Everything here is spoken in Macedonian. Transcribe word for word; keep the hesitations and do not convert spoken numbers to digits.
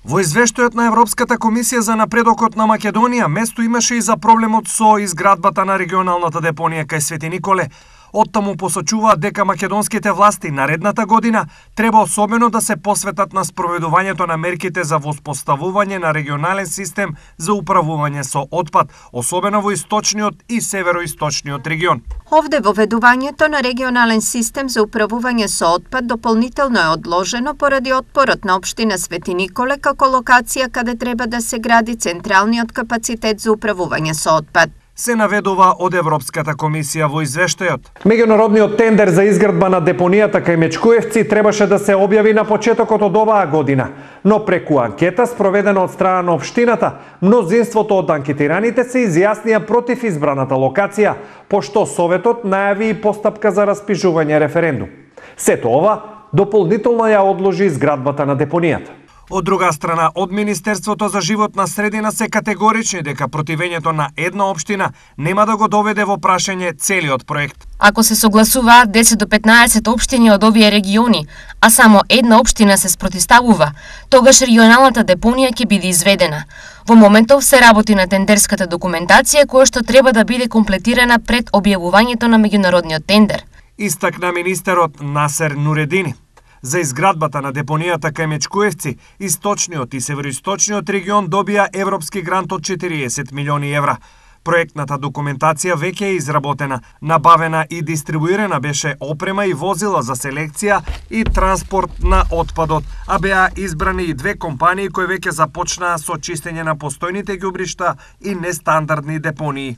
Во извештајот на Европската комисија за напредокот на Македонија, место имаше и за проблемот со изградбата на регионалната депонија кај Свети Николе. Оттаму посочуваат дека македонските власти наредната година треба особено да се посветат на спроведувањето на мерките за воспоставување на регионален систем за управување со отпад, особено во источниот и североисточниот регион. Овде воведувањето на регионален систем за управување со отпад дополнително е одложено поради отпорот на општина Свети Николе како локација каде треба да се гради централниот капацитет за управување со отпад. Се наведува од Европската комисија во извештајот. Меѓународниот тендер за изградба на депонијата кај Мечкуевци требаше да се објави на почетокот од оваа година, но преку анкета спроведена од страна на општината, мнозинството од анкетираните се изјаснија против избраната локација, пошто Советот најави и постапка за распишување референдум. Сето ова дополнително ја одложи изградбата на депонијата. Од друга страна, од Министерството за животна средина се категорични дека противењето на една општина нема да го доведе во прашање целиот проект. Ако се согласуваат десет до петнаесет општини од овие региони, а само една општина се спротивставува, тогаш регионалната депонија ќе биде изведена. Во моментов се работи на тендерската документација која што треба да биде комплетирана пред објавувањето на меѓународниот тендер. Истакна министерот Насер Нуредини. За изградбата на депонијата кај Мечкуевци, источниот и североисточниот регион добија европски грант од четириесет милиони евра. Проектната документација веќе е изработена, набавена и дистрибуирана беше опрема и возила за селекција и транспорт на отпадот, а беа избрани и две компании кои веќе започнаа со чистење на постојните ѓубришта и нестандардни депонии.